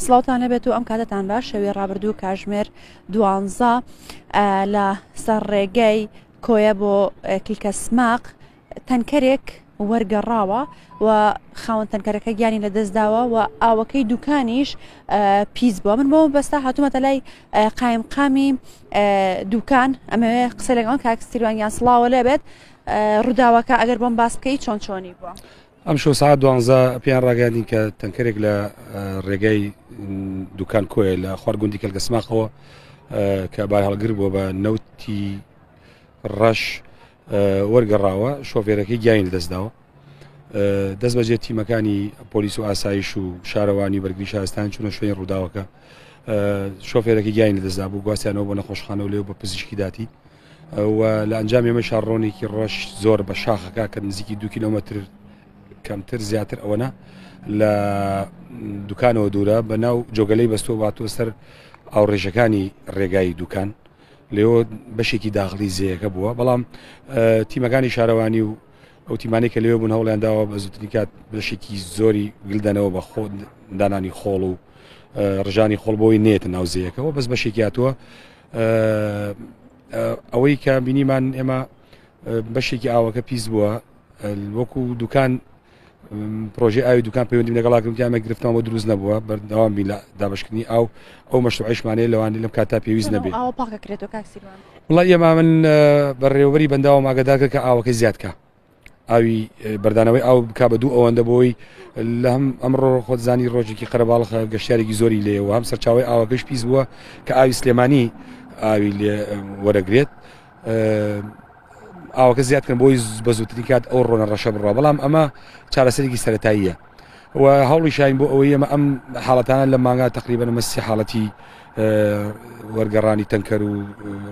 سڵاوتان لەبێت و ئەم کاتەتان باش شەوی ڕابردوو کاژمێر دوانزە لە سەر ڕێگەی کۆیە بۆ کلکە سماق تەنکەرێک وەرگەڕاوە و خاوەن تەنکەرەکە گیانی لەدەستداوە و ئاوەکەی دوکانیش پیس بووە من بۆ بەستا هاتوومەتە لای قایمقامی دوکان ئەمەوێ قسە لەگەڵ کاک سیروانیان سڵاوە لێبێت ڕووداوەکە ئەگەر بۆم باس بکەی چۆن چۆنی بووە؟ ئەمشەو سەعات دوانزە پێیان ڕاگەیاندین کە تەنکەرێک لە ڕێگای دوکان کۆیە لە خوار گوندی کەلکەسماقەوە کە بارهەڵگر بووە بە نەوتی ڕەش وەرگەڕاوە شۆفێرەکەی گیانی لەدەستداوە دەست بەجێ تیمەکانی پۆلیس و ئاسایش و شارەوانی بەرگری شارستان چوونە شوێنی ڕووداوەکە شۆفێرەکەی گیانی لەدەستدا بوو گواستیانەوە بۆ نەخۆشخانە و لێو بە پزیشکی داتی و لە ئەنجامی ئەمە شاڕۆنێکی ڕەش زۆر بە شاخەکە کە نزیکی دو کیلۆمەتر کەمتر زیاتر ئەوەنە لە دوکانەوە دوورە بە ناو جۆگەلەی بەستۆ باتوە سەر ئاوڕێژەکانی ڕێگای دوکان لێەوە بەشێکی داخلی زەیەکە بووە بەڵام تیمەکانی شارەوانی و ئەو تیمانەی کە لەوێ بوون هەوڵیان داوە بە زووترین کات بەشێکی زۆری گلدەنەوە بە خۆ دانانی خۆڵ و ڕژانی خۆڵ بۆی نێتە ناو زەیەکەوە بەس بەشێکی هاتووە ئەوەی کە بینیمان ئێمە بەشێکی ئاوەکە پیس بووە وەکو دوکان پرۆژەی ئاوی دوکان پەیوەندیم لەگەڵا کردم تیامە گرفتمان بۆ دروست نەبووە بەردەوام بین لە دابشکردنی ئاو ئەو مەشروعیشمانەیە لەوانەیە لەم کاتا پێویست نەبێ ئاوە پاکەکرێتەوە کاک سیروان وڵای ئێمە من بەڕێوەبەری بەنداوم ئاگادار کرد کە ئاوەکەی زیاد کە ئاوی بەردانەوەی ئاو بک بە دوو ئەوەندە بۆی لە هەم ئەمڕۆ خۆت زانی ڕۆژێکی قەرەباڵخە گەشتارێکی زۆری لێەوە هەم سەرچاوی ئاوەکەش پیس بووە کە ئاوی سلێمانی ئاوی لێ وەرەگرێت ئاوەکە زیاد کەن بۆی بە زووترین کات ئەو ڕۆنە ڕەشە بڕوا بەڵام ئەمە چارەسەرێکی سەتاییە و هەوڵی شاین بۆ ئەوەی ئەمە ئەم حاڵەتانە لە مانگا تقریبا مەسی حاڵەتی وەرگەڕانی تەنکەر و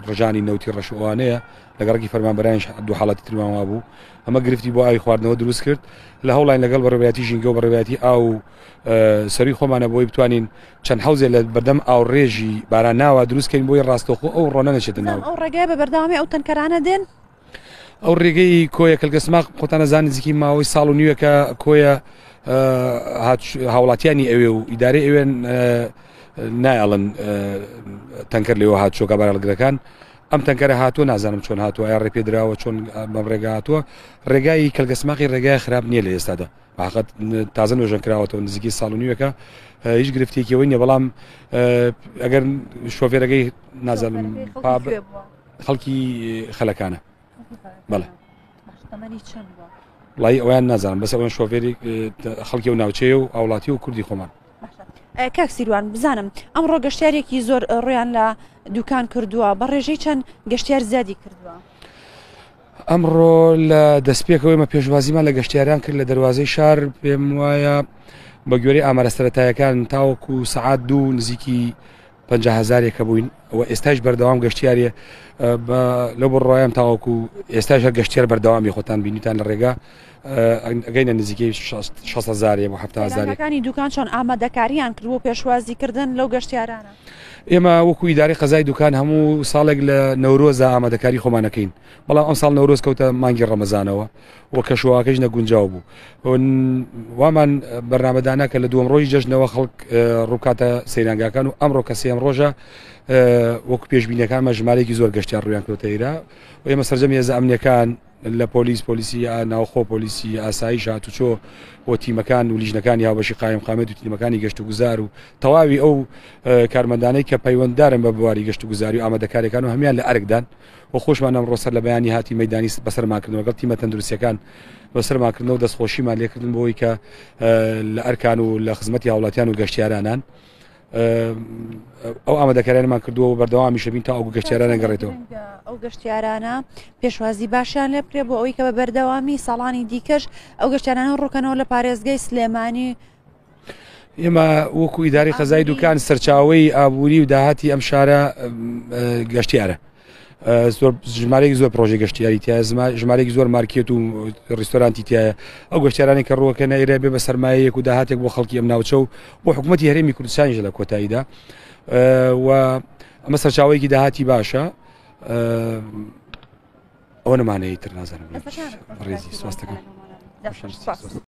ڕژانی نەوتی ڕەشوانەیە لە گەڕەکی فەرمانبەرانیش دوو حاڵەتی ترمان وابوو ئەمە گرفتی بۆ ئاوی خواردنەوە دروست کرد لە هەوڵین لەگەڵ بەڕێوەبەرایەتی ژینگە و بەڕێوەبەرایەتی ئاو و سەروی خۆمانە بۆی بتوانین چەند حەوزێ لە بەردەم ئاوڕێژی باراناوە دروست کەین بۆی ڕاستەوخۆ ئەو ڕۆنە نەچێتە ناو ئەو ڕێگای بە بەردەوامی ئەو تەنکەرانە دێن ئەو ڕێگەی کۆیە کەلکەسماق خۆتان ئەزانن نزیکی ماوەی ساڵ و نیوێکە کۆیە هاوڵاتیانی ئەوێ و ئیدارەی ئەوێن نایەڵن تەنکەر لێوە هاتوچۆکە بارهەڵگرەکان ئەم تەنکەرە هاتووە نازانم چۆن هاتووە ئایا ڕێپێدراوە چۆن بەم ڕێگا هاتووە ڕێگای کەلگەسماقی ڕێگای خراپ نییە لە ئێستادا حقت تازە نۆژەن کراوەتەوە نزیکی ساڵ و نیوەکە هیچ گرفتێکیەوەی نیە بەڵام ئەگەر شۆفێرەکەی نازانم خەڵکی خەلەکانە بەڵێ وڵی ئەویان نازانم بەس ئەوەن شۆفێری خەڵکی و ناوچەیە و ئاوڵاتی و کوردی خۆمان کاک سیروان بزانم ئەمڕۆ گەشتارێکی زۆر ڕویان لە دوکان کردووە بە ڕێژەی چەند گەشتیار زیادی کردووە ئەمڕۆ لە دەستپێکەوەی مە پێشوازیمان لە گەشتیاران کرد لە دەواازەی شار پێم وایە بە گوێرەی ئامارە سەتایەکان تاوەکو سەعات دوو نزیکی 50 هزارێکە بووین و ئێستاش بەردەوام گەشتیارێ لەو بڕوایم تاوەکو ئێستاش هەر گەشتیار بەردەوامی خۆتان بینیتان لە ڕێگا ئەگەینە نزیکەی 6 هزارێ بۆ 7 هزارەکانی دوکان چۆن ئامادەکاریان کرد بۆ پێشوازیکردن لەو گەشتیارانە؟ ئێمە وەکو ئیدارەی قەزای دوکان هەموو ساڵێک لە نەورۆزە ئامادەکاری خۆمانەکەین بەڵام ئەم ساڵ نەورۆز کەوتە مانگی ڕەمەزانەوە و کەشوهەواکەش نەگونجاو بوو وامان بەرنامەدانا کە لە دووەم ڕۆژی جەژنەوە خەڵک ڕووکاتە سەیرانگاکان و ئەمڕۆ کە سێم ڕۆژە وەکو پێشبینەکانمە ژمارەیەکی زۆر گەشتیان ڕویان کردۆتە ئێرە و ئێمە سەرجەم هێزە ئەمنیەکان لە پۆلیس پۆلیسی ناوخۆ پۆلیسی ئاسایش هاتوچۆ و تیمەکان و لیژنەکانی هاوبەشی قایم قامێت و تیمەکانی گەشت و گوزار و تەواوی ئەو کارمەندانەی کە پەیوەنددارن بە بواری گەشت و گوزاری و ئامادەکاریەکان و هەمان لە ئەرکدان و خۆشمان ئەمڕۆ سەر لە بەیانی هاتی مەدانی بەسەرمان کردنەوە گەڵ تیمە تەندروستیەکان بەسەرمان کردنەوە دەستخۆشیمان لێکردن بۆی کە لە ئەرکان و لە خزمەتی هاوڵاتیان و گەشتیارانان ئەو ئامادەکاریانمان کردووە و بەردەوامیشە بین تا ئەو گەشتیارانە گەڕێتەوە. ئەو گەشتیارانە پێشوازی باشیان لێ بکرێت بۆ ئەوەی کە بە بەردەوامی ساڵانی دیکەش ئەو گەشتیارانە ڕووکەنەوە لە پارێزگای سلێمانی. ئێمە وەکو ئیداری قەزای دوکان سەرچاوەی ئابووری و داهاتی ئەم شارە گەشتیارە. زۆر ژمارەیەکی زۆر پرۆژەی گەشتیاری تایە ژمارەیەکی زۆر مارکێت و ڕیستۆرانتی تایە ئەو گەشتیارانی کە ڕووەکە نەیرە بێ بە سەرمایەیەک و داهاتێک بۆ خەڵکی ئەم ناوچە و بۆ حکوومەتی هەرێمی کوردستانیش لە کۆتاییدا و ئەمە سەرچاوەیەکی داهاتی باشە ئەوە نمانەیە تر نازانم ڕێزی سواستەکەم.